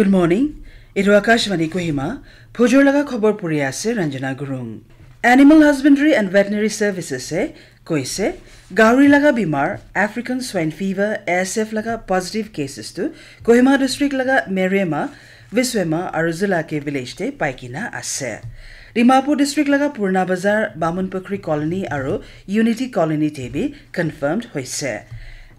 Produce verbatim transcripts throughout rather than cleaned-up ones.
Good morning. Etu Akashvani Kohima. Phujur laga khobor puri ase Ranjana Gurung. Animal Husbandry and Veterinary Services e koise, gauri laga bimar African Swine Fever, A S F laga positive cases tu Kohima district laga Merema, Viswema aru Zulake village te paikena ase. Dimapur district laga Purna Bazar, Bamun Pukhri colony aru Unity colony te bi confirmed hoise.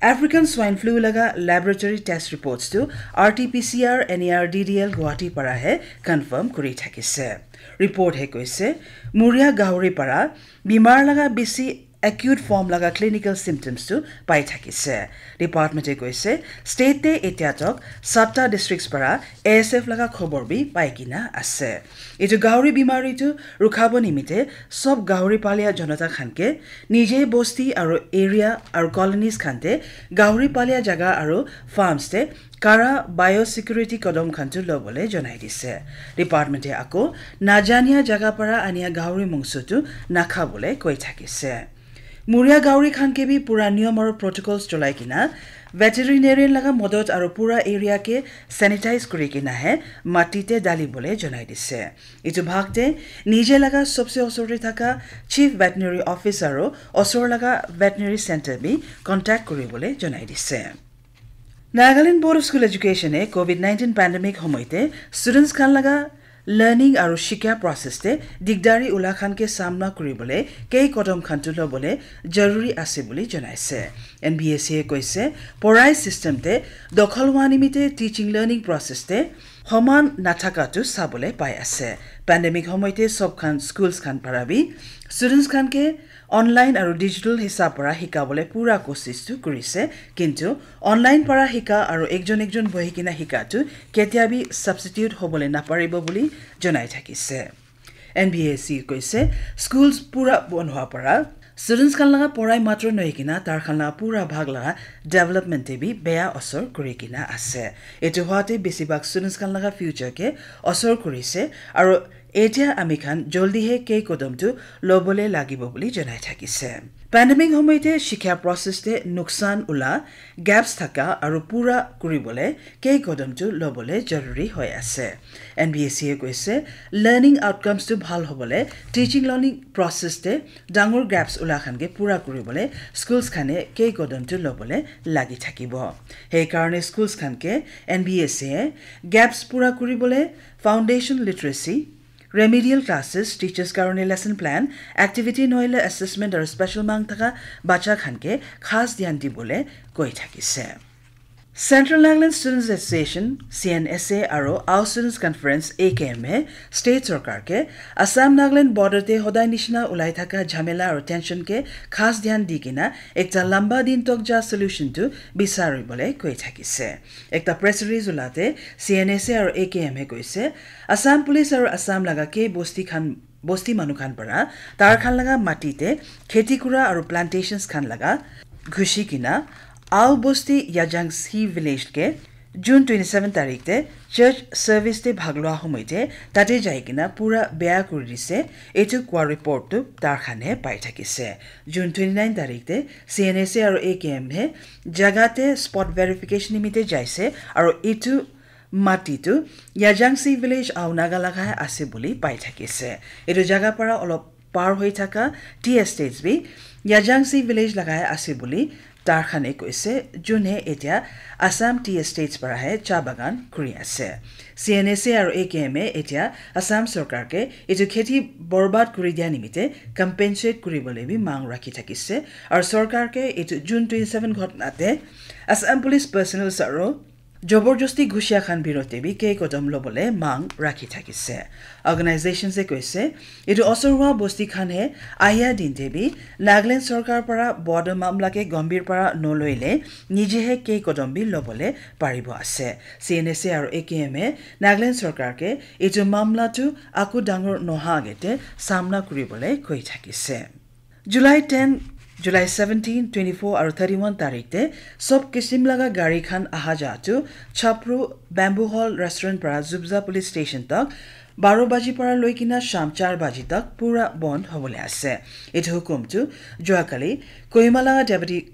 African Swine Flu laga laboratory test reports tu R T P C R N A R D D L Guwahati para he confirm kuri thakise. Report he koise, muria gauri para bimar laga bisi acute form laga clinical symptoms tu pai thakise. Department e koise, state te etia tok satta districts para A S F laga khobor bi pai kena ase. Etu gauri bimari tu rukhabo nimite sob gauri palia jonata khan ke nije bosti aru area aru colonies khan te gauri palia jaga aru farms te kara biosecurity kodom khan tu lobole jonai dise. Department e ako najania jaga para ania gauri mungsu tu nakhabole koi thakise. Muria gauri khan ke bi pura niyom aru protocols cholai kena veterinarian laga modot aru pura area ke sanitize kuri kena he mati te dali bole jonai dise. Etu bhag te nije laga sobse osor te thaka chief veterinary officer aru osor laga veterinary center bi contact kuri bole jonai dise. Nagaland Board of School Education e COVID nineteen pandemic homoite students khan laga learning aru shikya process te digdari ula khan ke samna kuri bole kei kodom khan tu lobole jaruri ase buli janaise. N B S E e koise, porai system te dokhol hua nimite teaching learning process te homan nathaka tu sabole pai ase. Pandemic homoite sob khan schools khan para bi students khan ke online aru digital hisab para hikabole pura kosis tu kurise, kintu online para hika aru ekjon ekjon bohi kena hika tu ketia bi substitute hobole naparibo buli jonai thakise. N B S E koise, schools pura bon hua para students khan laga porai matro nohoi kena tar khan laga pura bhag laga development te bi beya osor kuri kena ase. Etu hua te besibhag students khan laga future ke osor kurise aru etia ami khan joldi he kei kodom tu lobole lagibo buli janai thakise. Pandemic homoite shikha process te nuksan ula gaps thaka aru pura kuribole kei kodom tu lobole jaruri hoi ase. N B S E e koise, learning outcomes tu bhal hobole, teaching learning process te dangor gaps ula khan ke pura kuribole schools khane kei kodom tu lobole lagi thakibo. Hei karone schools khan ke N B S E e gaps pura kuribole foundation literacy, remedial classes, teachers karone lesson plan, activity nohile assessment aru special mang thaka bacha khan ke khas dhyan dibole koi thakise. Central Nagaland Students Association, C N S A, aru Ao Students Conference, A K M, e state sarkar ke Assam Nagaland border te hodai nishina ulai thaka jhamela aru tension ke khas dhyan di kena ekta lamba din tok ja solution tu bisari bole koi thakise. Ekta press release ulate C N S A aru A K M e koise, Assam Police aru Assam laga ke bosti khan bosti manu khan para tar khan laga mati te kheti kura aru plantations khan laga ghushi kena Ao bosti Yajangsi village ke June twenty seven tarik te church service te bhag lua homoi te tate jai kena pura beya kuri dise, etu kwa report tu tar khan he pai thakise. June twenty nine tarik te C N S A aru A K M he jaga te spot verification nimite jaise aru etu mati tu Yajangsi village Ao Naga laga ase buli pai thakise. Etu jaga para olop par hoi thaka tea estates bi Yajangsi village laga ase buli tar khan e koise, jun he etia Assam Tea Estates para he cha bagan kuri ase. C N S A aru A K M e etia Assam sarkar ke etu kheti borbad kuri dia nimite compensate kuri bole bi mang rakhi thakise. Aru sarkar ke etu June twenty seven ghotna te Assam Police personnel aru joborjosti ghusia khan birote bi kei kodom lobole mang rakhi thakise. Organization se koise, etu osorwa bosti khan he aya din te bi Nagaland sarkar para border mamla ke gambhir para noloile nije he kei kodom bi lobole paribo ase. C N S A aru A K M e Nagaland sarkar ke etu mamla tu aku dangor noha agete samna kuribole koi thakise. July ten, July seventeen, twenty four aru thirty one tarik te sob kisim laga gari khan aha ja tu Chapru Bamboo Hall Restaurant para Zubza Police Station tak baro baji para loi kena sham char baji tak pura bond hobole ase. Etu hukum tu jua kali Kohima laga Deputy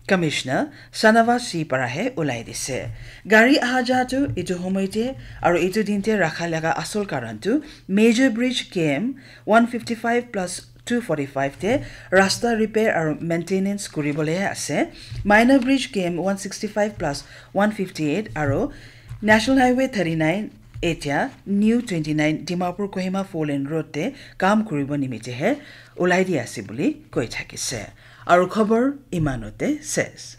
Commissioner Shanawaz Singh para he ulai dise. Gari aha ja tu itu homoi te aru itu din te rakha laga asol karan tu Major Bridge K M one fifty-five plus two forty-five te rasta repair aru maintenance kuribole ase. Minor Bridge K M one sixty-five plus one fifty-eight aru National Highway thirty-nine, etia New twenty-nine Dimapur Kohima four lane road te kam kuribo nimite he ulai di ase buli koi thakise. Aru khobor imanote ses.